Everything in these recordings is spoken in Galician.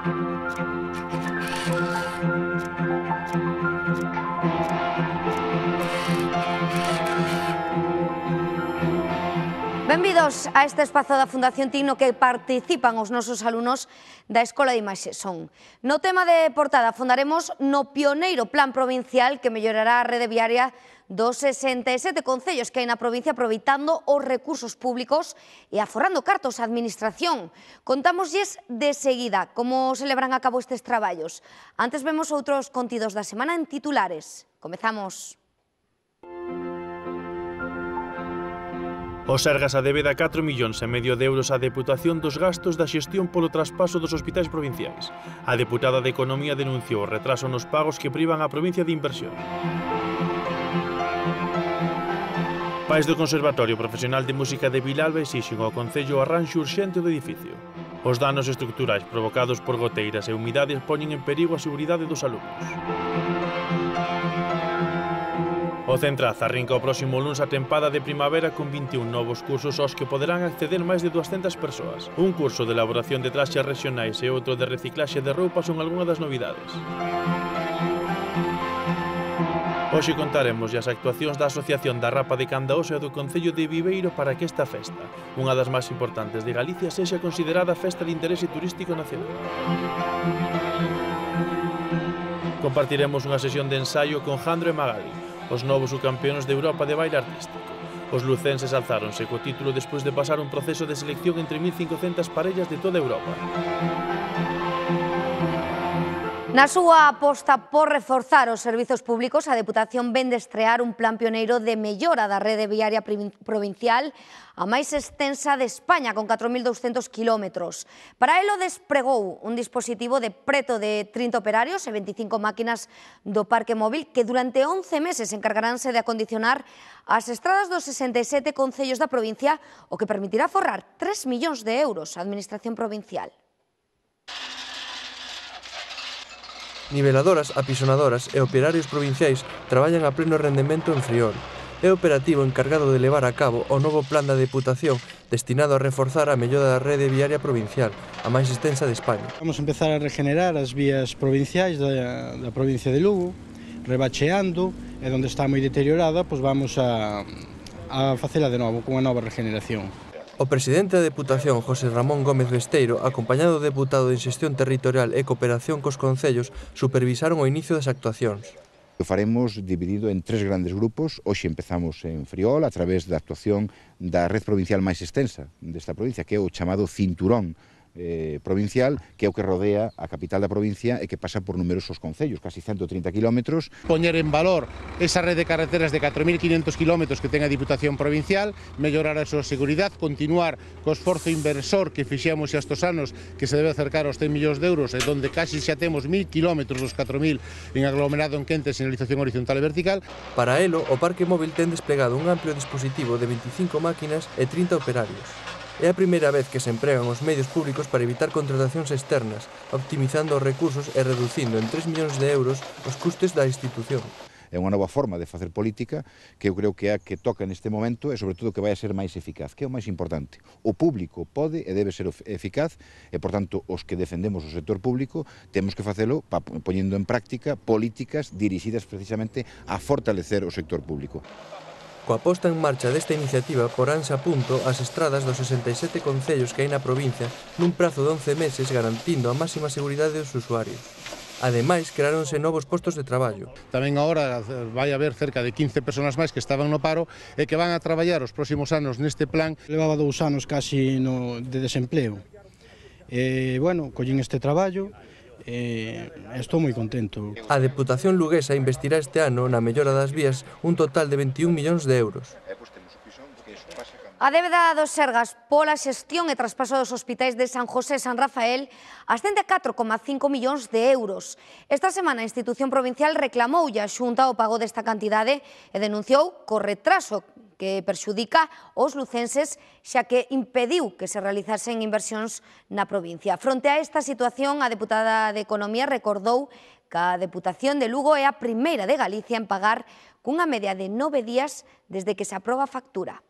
Benvidos a este espazo da Fundación TIC no que participan os nosos alumnos da Escola de Imaxe Son. No tema de portada fondaremos no pioneiro plan provincial que mellorará a rede viaria dos 67 concellos que hai na provincia aproveitando os recursos públicos e aforrando cartos á administración. Contámoslles de seguida como se levarán a cabo estes traballos. Antes vemos outros contidos da semana en titulares. Comezamos. O Sergas adebe da 4,5 millóns de euros á Deputación dos gastos da xestión polo traspaso dos hospitais provinciais. A deputada de Economía denunciou o retraso nos pagos que privan a provincia de inversión. Pais do Conservatorio Profesional de Música de Vilalba exixen ao Concello o arranxo urxente do edificio. Os danos estructurais provocados por goteiras e humidades poñen en perigo a seguridade dos alumnos. O Centraz arrinca o próximo luns a tempada de primavera con 21 novos cursos aos que poderán acceder máis de 200 persoas. Un curso de elaboración de traxes regionais e outro de reciclaxe de roupa son algunhas das novidades. Hoxe contaremos as actuacións da Asociación da Rapa de Candaoso e do Concello de Viveiro para que esta festa, unha das máis importantes de Galicia, sexa considerada festa de interese turístico nacional. Compartiremos unha sesión de ensaio con Jandro e Magali, os novos subcampeóns de Europa de baile artístico. Os lucenses alzáronse co título despois de pasar un proceso de selección entre 1.500 parellas de toda Europa. Na súa aposta por reforzar os servizos públicos, a Deputación vén de estrear un plan pioneiro de mellora da rede viaria provincial a máis extensa de España, con 4.200 kilómetros. Para elo despregou un dispositivo de preto de 30 operarios e 25 máquinas do parque móvil que durante 11 meses encargaránse de acondicionar as estradas dos 67 concellos da provincia, o que permitirá forrar 3 millóns de euros á Administración provincial. Niveladoras, apisonadoras e operarios provinciais traballan a pleno rendemento en Friol. É o operativo encargado de levar a cabo o novo plan da Deputación destinado a reforzar a mellora da rede viaria provincial, a máis extensa de España. Vamos a empezar a regenerar as vías provinciais da provincia de Lugo, rebacheando, e onde está moi deteriorada, pois vamos a facela de novo, con unha nova regeneración. O presidente da Deputación, José Ramón Gómez Besteiro, acompañado do deputado de Xestión Territorial e Cooperación cos concellos, supervisaron o inicio das actuacións. O faremos dividido en 3 grandes grupos. Hoxe empezamos en Friol a través da actuación da red provincial máis extensa desta provincia, que é o chamado cinturón provincial, que é o que rodea a capital da provincia e que pasa por numerosos concellos, casi 130 kilómetros. Poñer en valor esa red de carreteras de 4.500 kilómetros que ten a Diputación Provincial, mellorar a súa seguridade, continuar co esforzo inversor que fixemos estes anos, que se debe acercar aos 100 millóns de euros, e donde casi xa temos 1.000 kilómetros dos 4.000 en aglomerado en quente, señalización horizontal e vertical. Para elo, o parque móvil ten desplegado un amplio dispositivo de 25 máquinas e 30 operarios. É a primeira vez que se empregan os medios públicos para evitar contratacións externas, optimizando os recursos e reducindo en 3 millóns de euros os custes da institución. É unha nova forma de facer política que eu creo que é a que toca neste momento e, sobre todo, que vai a ser máis eficaz, que é o máis importante. O público pode e debe ser eficaz e, por tanto, os que defendemos o sector público temos que facelo poñendo en práctica políticas dirixidas precisamente a fortalecer o sector público. Coa posta en marcha desta iniciativa poránse a punto as estradas dos 67 concellos que hai na provincia nun prazo de 11 meses, garantindo a máxima seguridade dos usuarios. Ademais, creáronse novos postos de traballo. Tamén agora vai haber cerca de 15 persoas máis que estaban no paro e que van a traballar os próximos anos neste plan. Levaba 2 anos casi de desempleo. Bueno, collín este traballo, estou moi contento. A Deputación luguesa investirá este ano na mellora das vías un total de 21 millóns de euros. A débeda dos Sergas pola xestión e traspaso dos hospitais de San José e San Rafael ascende a 4,5 millóns de euros. Esta semana a institución provincial reclamoulle a Xunta o pago desta cantidade e denunciou co retraso que perxudica os lucenses, xa que impediu que se realizasen inversións na provincia. Fronte a esta situación, a deputada de Economía recordou que a Deputación de Lugo é a primeira de Galicia en pagar cunha media de 9 días desde que se aproba a factura.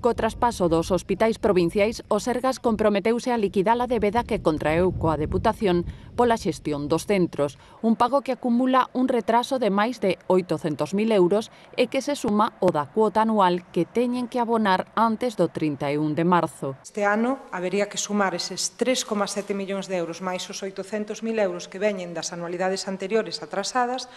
Co traspaso dos hospitais provinciais, o Sergas comprometeuse a liquidar a débeda que contraeu coa Deputación pola xestión dos centros, un pago que acumula un retraso de máis de 800.000 euros e que se suma ao da cuota anual que teñen que abonar antes do 31 de marzo. Este ano habería que sumar eses 3,7 millóns de euros máis os 800.000 euros que veñen das anualidades anteriores atrasadas,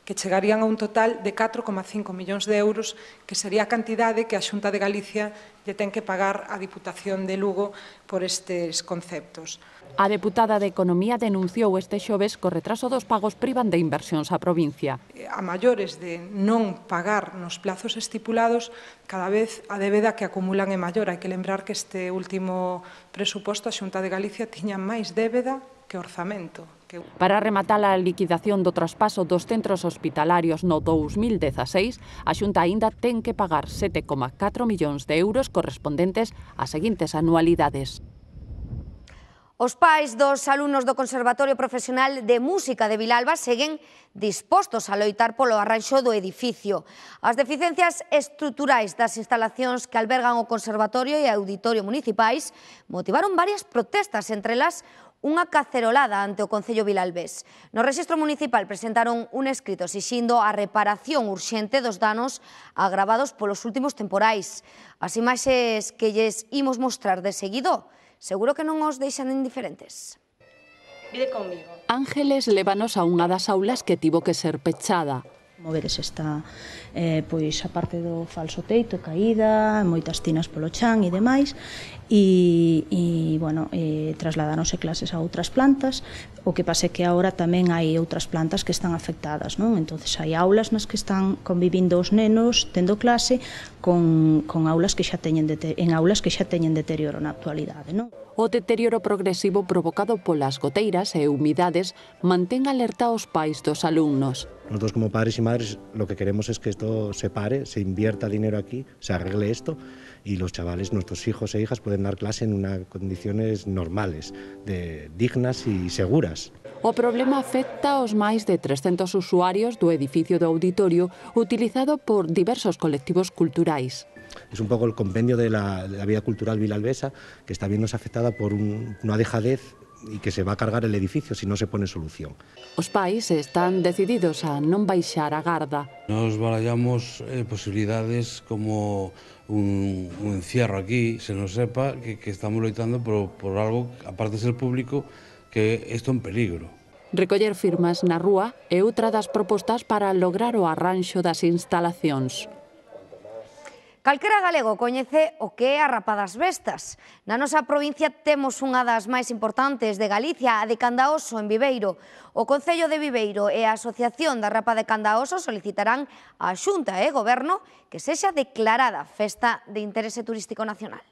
que chegarían a un total de 4,5 millóns de euros, que sería a cantidade que a Xunta de Galicia lle ten que pagar á Diputación de Lugo por estes conceptos. A deputada de Economía denunciou este xoves que o retraso dos pagos privan de inversións á provincia. A maiores de non pagar nos plazos estipulados, cada vez a débeda que acumulan é maior. Hai que lembrar que este último presuposto a Xunta de Galicia tiña máis débeda que orzamento. Para rematar a liquidación do traspaso dos centros hospitalarios no 2016, a Xunta aínda ten que pagar 7,4 millóns de euros correspondentes ás seguintes anualidades. Os pais dos alumnos do Conservatorio Profesional de Música de Vilalba seguen dispostos a loitar polo arranxo do edificio. As deficiencias estruturais das instalacións que albergan o Conservatorio e Auditorio municipais motivaron varias protestas, entre elas unha cacerolada ante o Concello vilalbés. No Rexistro Municipal presentaron un escrito exixindo a reparación urxente dos danos agravados polos últimos temporais. As imaxes que lles imos mostrar de seguido seguro que non os deixan indiferentes. Vide conmigo. Ángeles lévanos a unha das aulas que tivo que ser pechada. Como vedes está pois a parte do falso teito caída, moitas tinas polo chan e demais, e trasladáronse clases a outras plantas. O que pasa é que agora tamén hai outras plantas que están afectadas, non? Entonces hai aulas nas que están convivindo os nenos tendo clase con aulas que xa teñen deterioro na actualidade, non? O deterioro progresivo provocado polas goteiras e humidades mantén alerta aos pais dos alumnos. Nosotros como padres y madres lo que queremos es que esto se pare, se invierta dinero aquí, se arregle esto y los chavales, nuestros hijos e hijas pueden dar clase en unas condiciones normales, dignas y seguras. O problema afecta aos máis de 300 usuarios do edificio do auditorio utilizado por diversos colectivos culturais. Es un poco el compendio de la vida cultural vilalbesa que está viéndose afectada por una dejadez y que se va a cargar el edificio si no se pone solución. Os pais están decididos a non baixar a garda. Nos barallamos posibilidades como un encierro aquí, se nos sepa que estamos loitando por algo, aparte de ser público, que isto é un peligro. Recoller firmas na rúa é outra das propostas para lograr o arranxo das instalacións. Calquera galego coñece o que é a Rapa das Bestas. Na nosa provincia temos unha das máis importantes de Galicia, a de Candaoso, en Viveiro. O Concello de Viveiro e a Asociación da Rapa de Candaoso solicitarán á Xunta e Goberno que sexa declarada Festa de Interese Turístico Nacional.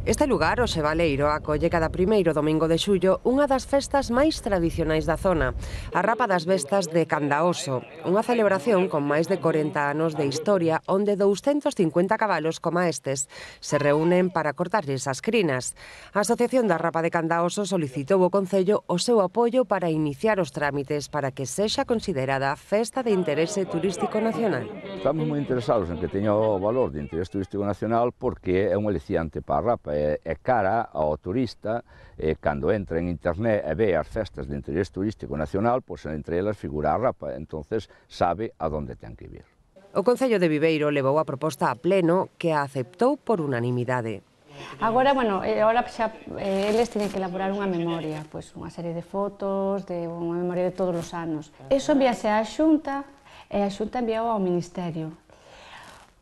Este lugar, o Xebaleiro, acolle cada primeiro domingo de xullo unha das festas máis tradicionais da zona, a Rapa das Bestas de Candaoso, unha celebración con máis de 40 anos de historia onde 250 cabalos como estes se reúnen para cortarlles as crinas. A Asociación da Rapa de Candaoso solicitou ao Concello o seu apoio para iniciar os trámites para que sexa considerada Festa de Interese Turístico Nacional. Estamos moi interesados en que teña o valor de interese turístico nacional porque é un aliciante para a Rapa, é cara ao turista cando entra en internet e ve as festas de interés turístico nacional, pois entre elas figura a Rapa, entonces sabe a donde ten que vir. O Concello de Viveiro levou a proposta a pleno que a aceptou por unanimidade. Agora, xa eles teñen que elaborar unha memoria, pois unha serie de fotos, de unha memoria de todos os anos. Eso envíase á Xunta e a Xunta enviou ao Ministerio.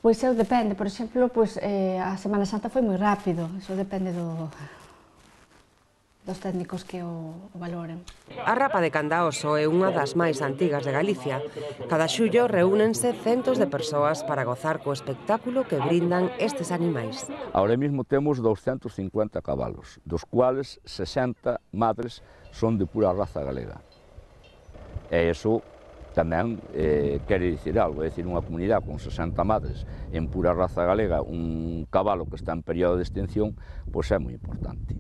Pois depende, por exemplo, a Semana Santa foi moi rápido, iso depende dos técnicos que o valoren. A Rapa de Candaoso é unha das máis antigas de Galicia. Cada xullo reúnense centos de persoas para gozar co espectáculo que brindan estes animais. Ahora mesmo temos 250 cabalos, dos cuales 60 madres son de pura raza galega. E iso tamén quere dicir algo, é dicir, unha comunidade con 60 madres en pura raza galega, un cabalo que está en período de extinción, pois é moi importante.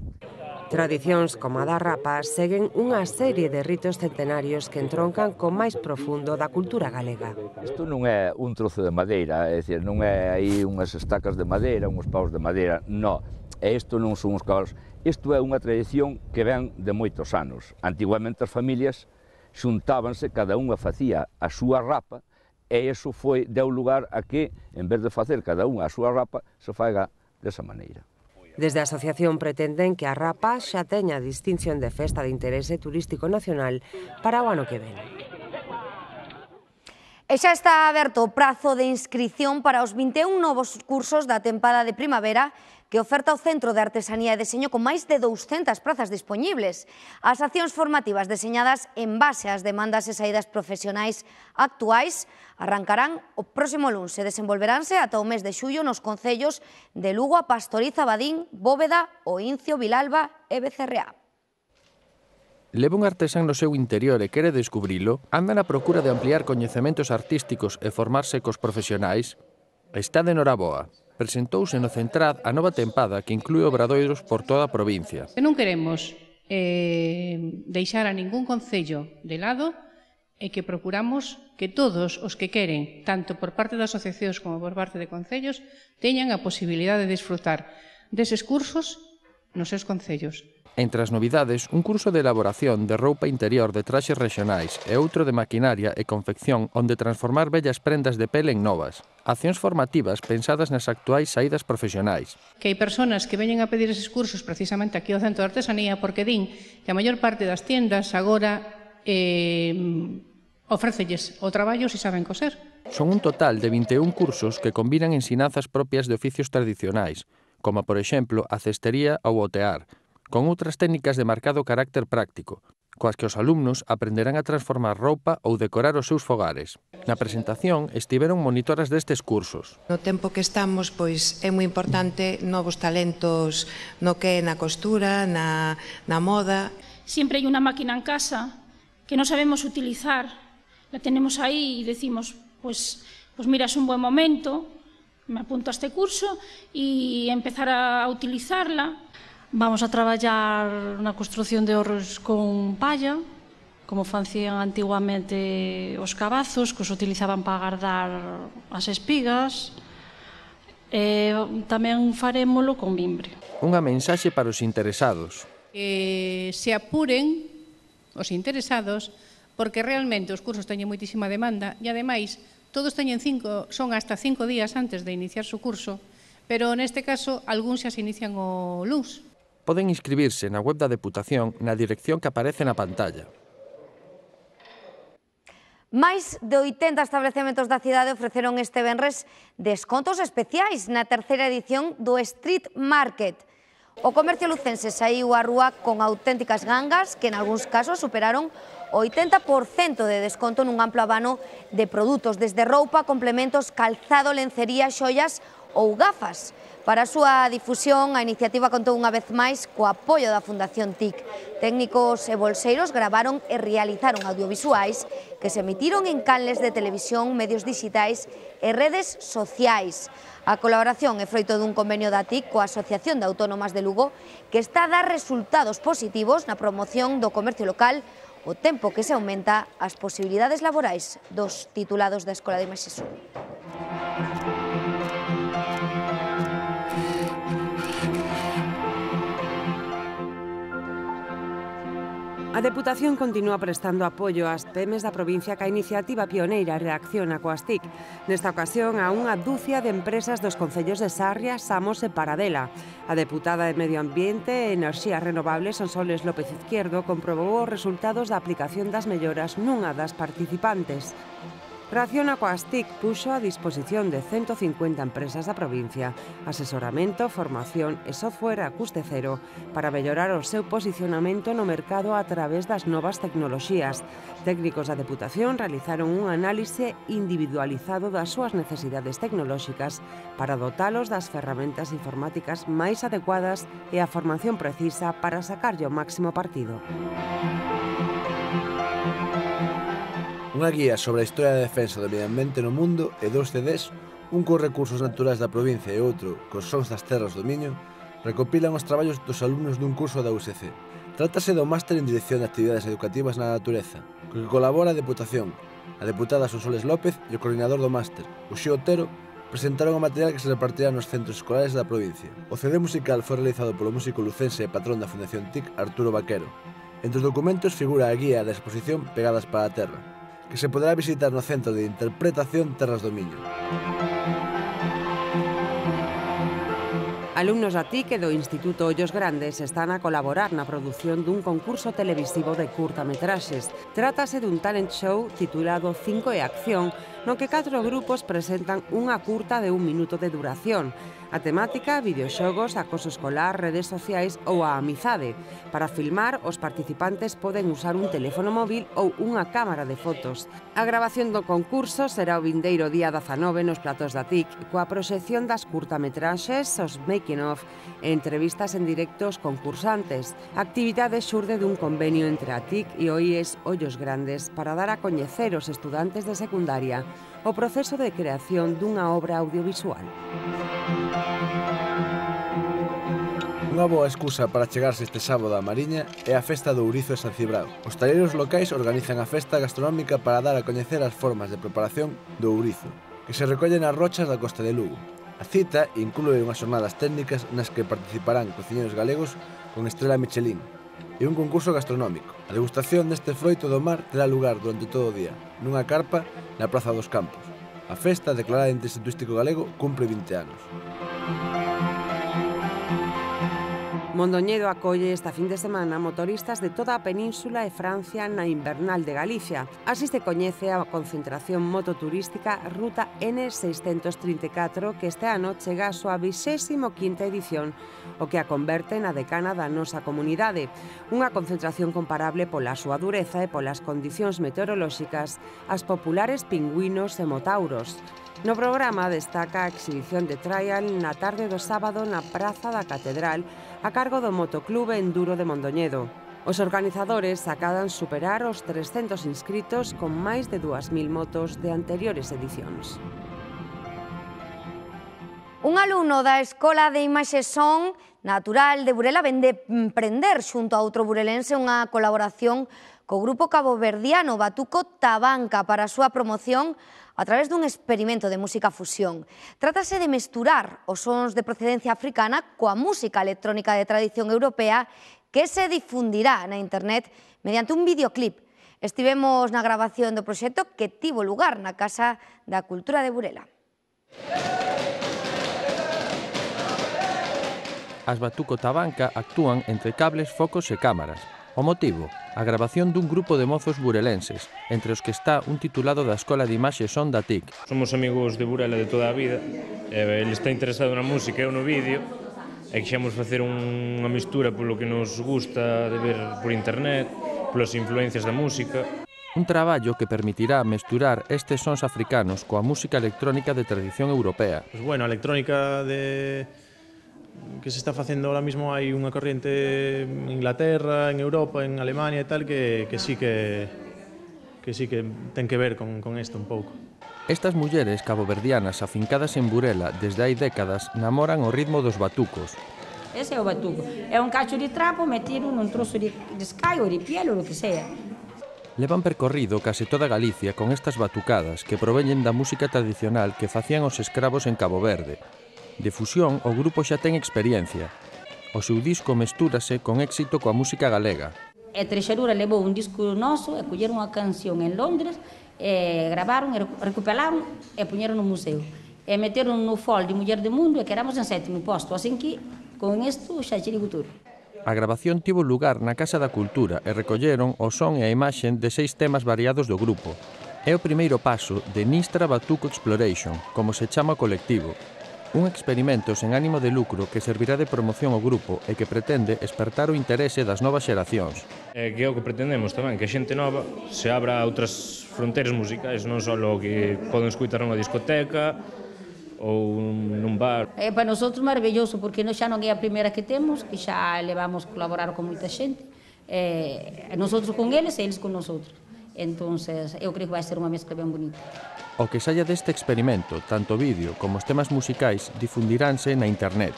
Tradicións como a da rapa seguen unha serie de ritos centenarios que entroncan co máis profundo da cultura galega. Isto non é un trozo de madeira, é dicir, non é aí unhas estacas de madeira, uns paus de madeira, non. E isto non son uns cabalos. Isto é unha tradición que ven de moitos anos. Antiguamente as familias xuntábanse, cada unha facía a súa rapa, e iso deu lugar a que, en vez de facer cada unha a súa rapa, se faiga desa maneira. Desde a asociación pretenden que a rapa xa teña distinción de festa de interese turístico nacional para o ano que ven. E xa está aberto o prazo de inscrición para os 21 novos cursos da tempada de primavera que oferta o Centro de Artesanía e Deseño con máis de 200 prazas dispoñibles. As accións formativas deseñadas en base ás demandas e saídas profesionais actuais arrancarán o próximo luns e desenvolveránse ata o mes de xullo nos concellos de Lugo, A Pastoriza, Badín, Bóveda, O Incio, Vilalba e Becerreá. Leva un artesán no seu interior e quere descubrilo, anda na procura de ampliar coñecementos artísticos e formarse cos profesionais. Está de Noraboa. Presentouse no Centrad a nova tempada que inclúe obradoiros por toda a provincia. Non queremos deixar a ningún concello de lado e que procuramos que todos os que queren, tanto por parte das asociacións como por parte de concellos, teñan a posibilidade de disfrutar deses cursos nos seus concellos. Entre as novidades, un curso de elaboración de roupa interior de traxes regionais e outro de maquinaria e confección onde transformar vellas prendas de pele en novas. Accións formativas pensadas nas actuais saídas profesionais. Que hai persoas que veñen a pedir eses cursos precisamente aquí ao Centro de Artesanía porque din que a maior parte das tiendas agora ofrécelles o traballo se saben coser. Son un total de 21 cursos que combinan ensinanzas propias de oficios tradicionais, como por exemplo a cestería ou o tear, con outras técnicas de marcado carácter práctico, coas que os alumnos aprenderán a transformar roupa ou decorar os seus fogares. Na presentación estiveron monitoras destes cursos. No tempo que estamos, pois é moi importante novos talentos no que é na costura, na moda. Siempre hai unha máquina en casa que non sabemos utilizar, la tenemos aí e decimos, pues mira, es un buen momento, me apunto a este curso e empezar a utilizarla. Vamos a traballar na construción de horros con palla, como facían antiguamente os cabazos, que os utilizaban para guardar as espigas. Tamén farémolo con mimbre. Unha mensaxe para os interesados. Se apuren os interesados, porque realmente os cursos teñen moitísima demanda e, ademais, todos son hasta 5 días antes de iniciar o curso, pero neste caso, algúns xa se inician o luns. Poden inscribirse na web da Deputación na dirección que aparece na pantalla. Máis de 80 establecementos da cidade ofreceron este venres descontos especiais na terceira edición do Street Market. O comercio lucense saíu á rúa con auténticas gangas que en algúns casos superaron o 80% de desconto nun amplo abano de produtos, desde roupa, complementos, calzado, lencería, xoias ou gafas. Para a súa difusión, a iniciativa contou unha vez máis co apoio da Fundación TIC. Técnicos e bolseiros gravaron e realizaron audiovisuais que se emitiron en canles de televisión, medios digitais e redes sociais. A colaboración é froito dun convenio da TIC coa Asociación de Autónomas de Lugo que está a dar resultados positivos na promoción do comercio local o tempo que se aumenta as posibilidades laborais dos titulados da Escola de Imaxe Sur. A Deputación continúa prestando apoio ás PEMES da provincia ca iniciativa pioneira Reacciona coas TIC. Nesta ocasión, a unha dúcia de empresas dos concellos de Sarria, Samos e Paradela. A deputada de Medio Ambiente e Enerxías Renovables, Sonsoles López Izquierdo, comprobou os resultados da aplicación das melloras nunha das participantes. Reacciona coas TIC puxo a disposición de 150 empresas da provincia asesoramento, formación e software a custe cero para mellorar o seu posicionamento no mercado a través das novas tecnoloxías. Técnicos da Deputación realizaron un análise individualizado das súas necesidades tecnolóxicas para dotalos das ferramentas informáticas máis adecuadas e a formación precisa para sacarlle o máximo partido. Unha guía sobre a historia da defensa do medio ambiente no mundo e 2 CDs, un cos recursos naturais da provincia e outro cos sons das terras do Miño, recopilan os traballos dos alumnos dun curso da USC. Trátase do Máster en Dirección de Actividades Educativas na Natureza, co que colabora a Deputación, a deputada Sonsoles López e o coordinador do máster, Uxío Otero, presentaron o material que se repartirá nos centros escolares da provincia. O CD musical foi realizado polo músico lucense e patrón da Fundación TIC, Arturo Vaquero. Entre os documentos figura a guía da exposición Pegadas para a Terra, que se poderá visitar no Centro de Interpretación Terras do Miño. Alumnos da TIC e do Instituto Ollos Grandes están a colaborar na produción dun concurso televisivo de curtametraxes. Trátase dun talent show titulado 5 e Acción, no que 4 grupos presentan unha curta de 1 minuto de duración. A temática, videoxogos, acoso escolar, redes sociais ou a amizade. Para filmar, os participantes poden usar un teléfono móvil ou unha cámara de fotos. A grabación do concurso será o vindeiro día 19 nos platos da TIC, coa proxección das curtametraxes, os making of e entrevistas en directo aos concursantes. A actividade xurde dun convenio entre a TIC e o IES Ollos Grandes para dar a coñecer aos estudantes de secundaria o proceso de creación dunha obra audiovisual. Unha boa excusa para chegarse este sábado á Mariña é a Festa do Ourizo de San Cibrao. Os talleiros locais organizan a festa gastronómica para dar a coñecer as formas de preparación do ourizo, que se recollen nas rochas da costa de Lugo. A cita inclúe unhas xornadas técnicas nas que participarán cociñeiros galegos con estrela Michelin e un concurso gastronómico. A degustación deste froito do mar terá lugar durante todo o día, nunha carpa na Praza dos Campos. A festa, declarada de interese turístico galego, cumpre 20 anos. Mondoñedo acolle esta fin de semana motoristas de toda a península e Francia na Invernal de Galicia. Así se coñece a concentración mototurística Ruta N634 que este ano chega a súa 25ª edición, o que a converte na decana da nosa comunidade. Unha concentración comparable pola súa dureza e polas condicións meteorolóxicas as populares pingüinos e motauros. No programa destaca a exhibición de trial na tarde do sábado na Praza da Catedral a cargo do Motoclub Enduro de Mondoñedo. Os organizadores acadan superar os 300 inscritos con máis de 2.000 motos de anteriores edicións. Un alumno da Escola de Imaxe Son Natural de Burela vén de emprender xunto a outro burelense unha colaboración co grupo caboverdiano Batuco Tabanca para a súa promoción a través dun experimento de música fusión. Trátase de mesturar os sons de procedencia africana coa música electrónica de tradición europea que se difundirá na internet mediante un videoclip. Estivemos na grabación do proxecto que tivo lugar na Casa da Cultura de Burela. As Batuco Tabanca actúan entre cables, focos e cámaras. O motivo, a grabación dun grupo de mozos burelenses, entre os que está un titulado da Escola de Imaxe Son da TIC. Somos amigos de Burela de toda a vida, ele está interesado na música e eu no vídeo, e quixemos facer unha mistura polo que nos gusta de ver por internet, polas influencias da música. Un traballo que permitirá mesturar estes sons africanos coa música electrónica de tradición europea. Pues bueno, a electrónica que se está facendo ahora mismo, hai unha corriente en Inglaterra, en Europa, en Alemania e tal, que sí que ten que ver con isto un pouco. Estas mulleres caboverdianas afincadas en Burela desde hai décadas namoran o ritmo dos batucos. Ese é o batuco. É un cacho de trapo metido nun trozo de sky ou de piel ou o que sea. Levan percorrido case toda Galicia con estas batucadas que proveñen da música tradicional que facían os escravos en Cabo Verde. De fusión, o grupo xa ten experiencia. O seu disco mestúrase con éxito coa música galega. E Trexadura levou un disco noso e colleron unha canción en Londres, gravaron, recuperaron e puñeron no museo. E meteron no fol de Muller do Mundo e quedamos en 7º posto, así que con isto xa chirigo todo. A grabación tivo lugar na Casa da Cultura e recolleron o son e a imaxen de 6 temas variados do grupo. É o primeiro paso de Nistra Batuco Exploration, como se chama o colectivo. Un experimento sen ánimo de lucro que servirá de promoción ao grupo e que pretende espertar o interese das novas xeracións. Que é o que pretendemos tamén, que a xente nova se abra a outras fronteiras musicais, non só o que poden escutar nunha discoteca ou nun bar. É para nosotros maravilloso, porque xa non é a primeira que temos, que xa levamos colaborar con moita xente, nosotros con eles e eles con nosotros. Entonces, eu creo que vai ser unha mezcla ben bonita. O que saia deste experimento, tanto o vídeo como os temas musicais, difundiránse na internet.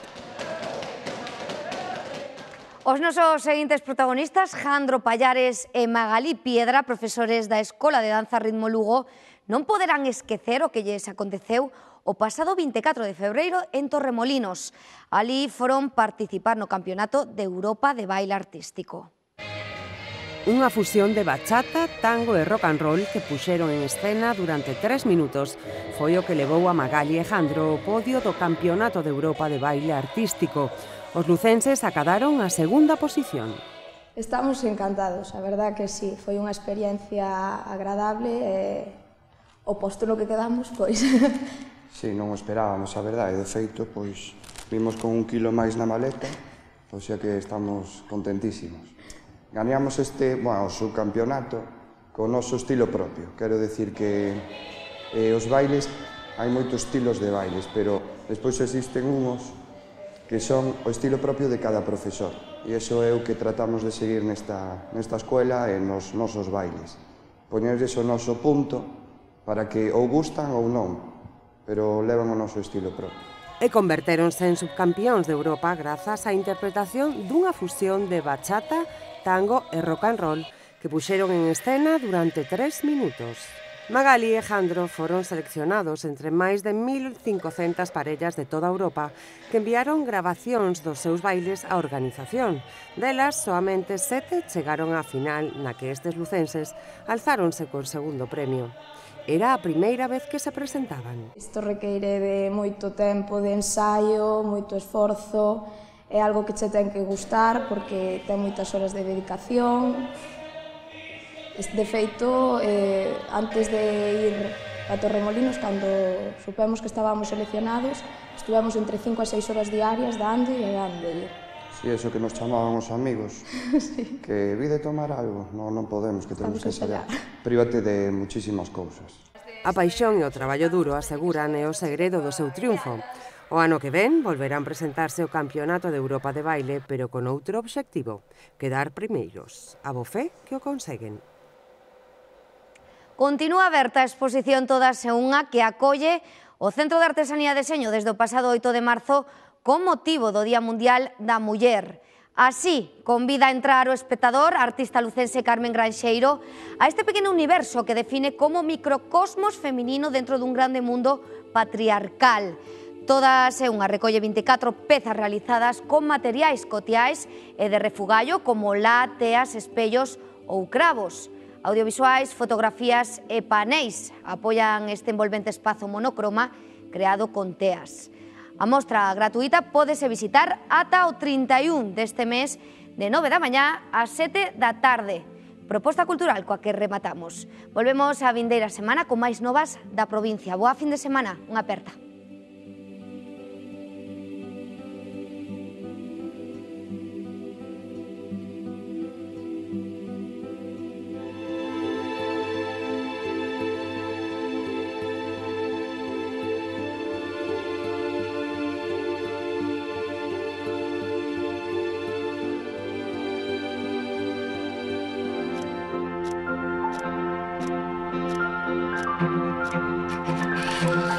Os nosos seguintes protagonistas, Jandro Pallares e Magalí Piedra, profesores da Escola de Danza Ritmo Lugo, non poderán esquecer o que lles aconteceu o pasado 24 de febreiro en Torremolinos. Alí foron participar no Campeonato de Europa de Baile Artístico. Unha fusión de bachata, tango e rock and roll que puxeron en escena durante 3 minutos foi o que levou a Magalí e Jandro ao podio do Campeonato de Europa de Baile Artístico. Os lucenses acadaron a segunda posición. Estamos encantados, a verdad que sí, foi unha experiencia agradable e o posto no que quedamos, pois... Sí, non o esperábamos, a verdade, de feito, pois vimos con 1 kilo máis na maleta, o sea que estamos contentísimos. Gañamos o subcampeonato co noso estilo propio, quero decir que os bailes, hai moitos estilos de bailes, pero despois existen unhos que son o estilo propio de cada profesor. E iso é o que tratamos de seguir nesta escuela e nos nosos bailes. Poñerles o noso punto para que ou gustan ou non, pero levan o noso estilo propio. E convertéronse en subcampións de Europa grazas á interpretación dunha fusión de bachata, tango e rock and roll que puxeron en escena durante 3 minutos. Magalí e Jandro foron seleccionados entre máis de 1.500 parellas de toda Europa que enviaron grabacións dos seus bailes á organización. Delas, soamente 7 chegaron á final na que estes lucenses alzáronse con segundo premio. Era a primeira vez que se presentaban. Isto requeire de moito tempo de ensaio, moito esforzo, é algo que che ten que gustar porque ten moitas horas de dedicación. De feito, antes de ir a Torremolinos, cando supemos que estábamos seleccionados, estuvemos entre 5 a 6 horas diarias dando e dando. Si, eso que nos chamaban os amigos, sí. Que vi de tomar algo, non podemos, que temos que ensayar. Prívate de muchísimas cousas. A paixón e o traballo duro aseguran é o segredo do seu triunfo. O ano que ven volverán presentarse o Campeonato de Europa de Baile, pero con outro obxectivo, quedar primeiros. A bo fe que o conseguen. Continúa aberta a exposición Todas en unha que acolle o Centro de Artesanía e Deseño desde o pasado 8 de marzo con motivo do Día Mundial da Muller. Así, convida a entrar o espectador, a artista lucense Carmen Granxeiro, a este pequeno universo que define como microcosmos feminino dentro dun grande mundo patriarcal. Todas é unha recolle 24 pezas realizadas con materiais cotiais e de refugallo como lá, teas, espellos ou cravos. Audiovisuais, fotografías e paneis apoian este envolvente espazo monocroma creado con teas. A mostra gratuita pódese visitar ata o 31 deste mes de 9 da mañá a 7 da tarde. Proposta cultural coa que rematamos. Volvemos a vindeira semana con máis novas da provincia. Boa fin de semana, unha aperta. Thank you.